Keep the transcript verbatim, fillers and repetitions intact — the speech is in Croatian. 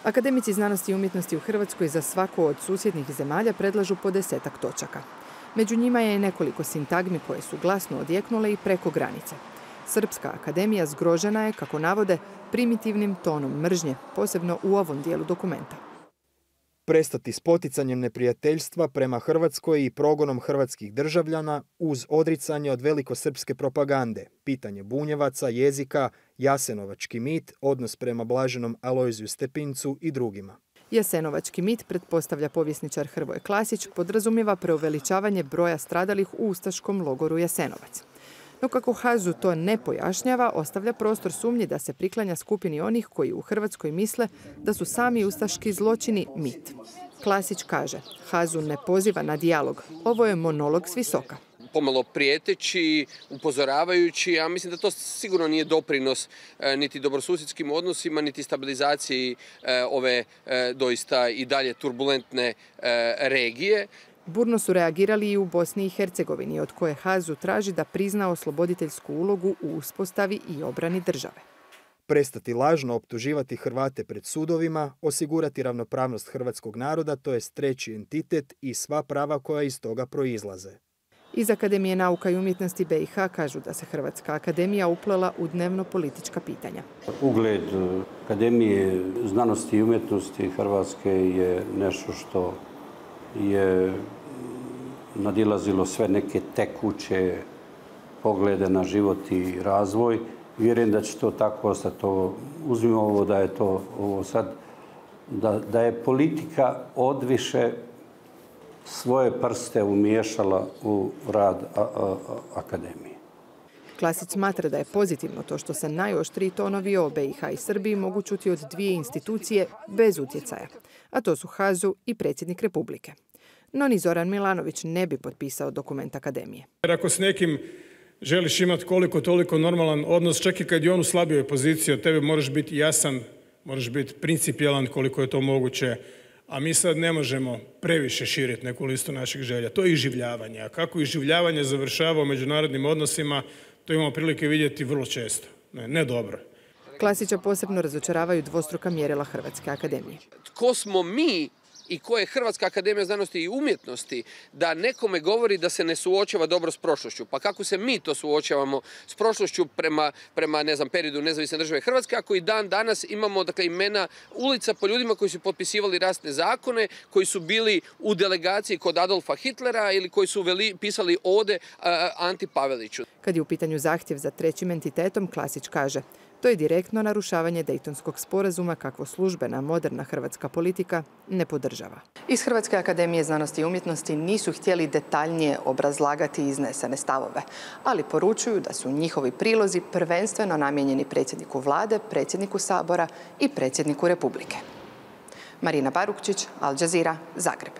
Akademici znanosti i umjetnosti u Hrvatskoj za svaku od susjednih zemalja predlažu po desetak točaka. Među njima je i nekoliko sintagmi koje su glasno odjeknule i preko granice. Srpska akademija zgrožena je, kako navode, primitivnim tonom mržnje, posebno u ovom dijelu dokumenta. Prestati s poticanjem neprijateljstva prema Hrvatskoj i progonom hrvatskih državljana uz odricanje od velikosrpske propagande, pitanje Bunjevaca, jezika, jasenovački mit, odnos prema blaženom Alojziju Stepincu i drugima. Jasenovački mit, pretpostavlja povjesničar Hrvoje Klasić, podrazumijeva preuveličavanje broja stradalih u ustaškom logoru Jasenovac. No kako Hazu to ne pojašnjava, ostavlja prostor sumnji da se priklanja skupini onih koji u Hrvatskoj misle da su sami ustaški zločini mit. Klasić kaže, Hazu ne poziva na dijalog, ovo je monolog s visoka. Pomalo prijeteći, upozoravajući, a mislim da to sigurno nije doprinos niti dobrosusjedskim odnosima, niti stabilizaciji ove doista i dalje turbulentne regije. Burno su reagirali i u Bosni i Hercegovini, od koje Hazu traži da prizna osloboditeljsku ulogu u uspostavi i obrani države. Prestati lažno optuživati Hrvate pred sudovima, osigurati ravnopravnost hrvatskog naroda, to jest treći entitet i sva prava koja iz toga proizlaze. Iz Akademije nauka i umjetnosti B i H kažu da se Hrvatska akademija uplela u dnevno-politička pitanja. Ugled Akademije znanosti i umjetnosti Hrvatske je nešto što je nadilazilo sve neke tekuće poglede na život i razvoj. Vjerujem da će to tako ostati. Uzmimo ovo da je to ovo sad, da, da je politika odviše svoje prste umiješala u rad a, a, akademije. Klasić smatra da je pozitivno to što se najoštriji tonovi o B i H i Srbiji mogu čuti od dvije institucije bez utjecaja, a to su Hazu i predsjednik Republike. No ni Zoran Milanović ne bi potpisao dokument akademije. Jer ako s nekim želiš imati koliko toliko normalan odnos, čak i kad je on u slabijoj poziciji, od tebe moraš biti jasan, moraš biti principijelan koliko je to moguće, a mi sad ne možemo previše širiti neku listu naših želja. To je iživljavanje. A kako iživljavanje završava u međunarodnim odnosima, to imamo prilike vidjeti vrlo često. Ne, ne dobro. Klasića posebno razočaravaju dvostruka mjerila Hrvatske akademije. Tko smo mi i ko je Hrvatska akademija znanosti i umjetnosti da nekome govori da se ne suočava dobro s prošlošću? Pa kako se mi to suočavamo s prošlošću prema, prema ne znam, periodu nezavisne države Hrvatske, ako i dan danas imamo dakle, imena ulica po ljudima koji su potpisivali rasne zakone, koji su bili u delegaciji kod Adolfa Hitlera ili koji su veli, pisali ode uh, Anti Paveliću. Kad je u pitanju zahtjev za trećim entitetom, Klasić kaže, to je direktno narušavanje Dejtonskog sporazuma kakvo službena moderna hrvatska politika ne podržava. Iz Hrvatske akademije znanosti i umjetnosti nisu htjeli detaljnije obrazlagati iznesene stavove, ali poručuju da su njihovi prilozi prvenstveno namijenjeni predsjedniku vlade, predsjedniku Sabora i predsjedniku Republike. Marina Barukčić, Al Jazeera, Zagreb.